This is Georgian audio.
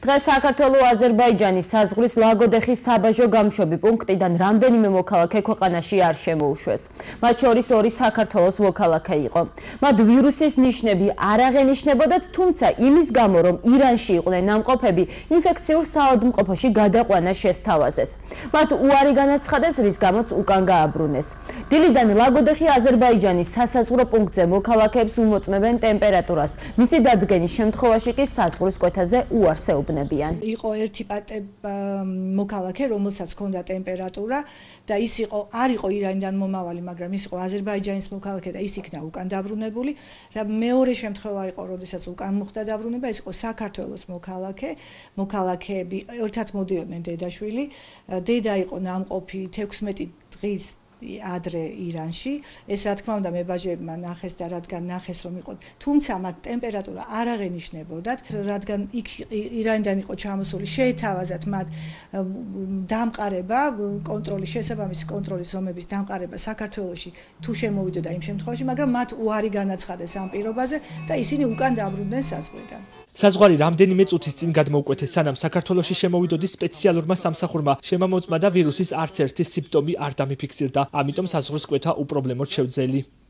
დღეს საქართველო-აზერბაიჯანის საზღვრის ლაგოდეხის საბაჟო გამშვები პუნქტიდან რამდენიმე მოქალაქე ქვეყანაში არ შემოუშვეს. მათ შორის ორი საქართველოს მოქალაქე იყო. მათ ვირუსის ნიშნები არ აღენიშნებოდათ, თუმცა იმის გამო, რომ ირანში იყვნენ ნამყოფები, ინფექციურ საავადმყოფოში გადაყვანა შესთავაზეს. მათ უარი განაცხადეს, რის გამოც უკან გააბრუნეს. დილიდან ლაგოდეხი აზერბაიჯანის სასაზღვრო პუნქტზე მოქალაქეებს უმოწმებენ ტემპერატურას. მისი დადგენის შემთხვევაში კი საზღვრის კვეთაზე უარსეობენ. იყო ერთი მოქალაქე, რომელსაც ჰქონდა ტემპერატურა და ის არ იყო ირანიდან მომავალი, მაგრამ ის იყო აზერბაიჯანის მოქალაქე და ის იქნა უკან დაბრუნებული. მეორე შემთხვევა იყო, როდესაც უკან მოხდა დაბრუნება, ის იყო საქართველოს მოქალაქეები ერთად მოდიოდნენ დედაშვილი. დედა იყო ნამყოფი 16 დღის ადრე ირანში. ეს რა თქმა უნდა მებაჟეებმა ნახეს და რადგან ნახეს რომ იყო, თუმცა მათ ტემპერატურა არ აღენიშნებოდათ, რადგან იქ ირანიდან იყო ჩამოსული, შეეთავაზათ მათ დამყარება, შესაბამისი კონტროლის ზომების დამყარება საქართველოში თუ შემოვიდოდა იმ შემთხვევაში, მაგრამ მათ უარი განაცხადეს ამ პირობაზე და ისინი უკან დაბრუნდნენ საზღვრიდან. საზღვარი რამდენიმე წუთის წინ გადმოუკვეთეს, სანამ საქართველოში შემოვიდოდეს სპეციალურმა სამსახურმა შემამოწმა და ვირუსის არც ერთი სიმპტომი არ დამიფიქსირდა, ამიტომ საზღვრის კვეთა უპრობლემოდ შევძელი.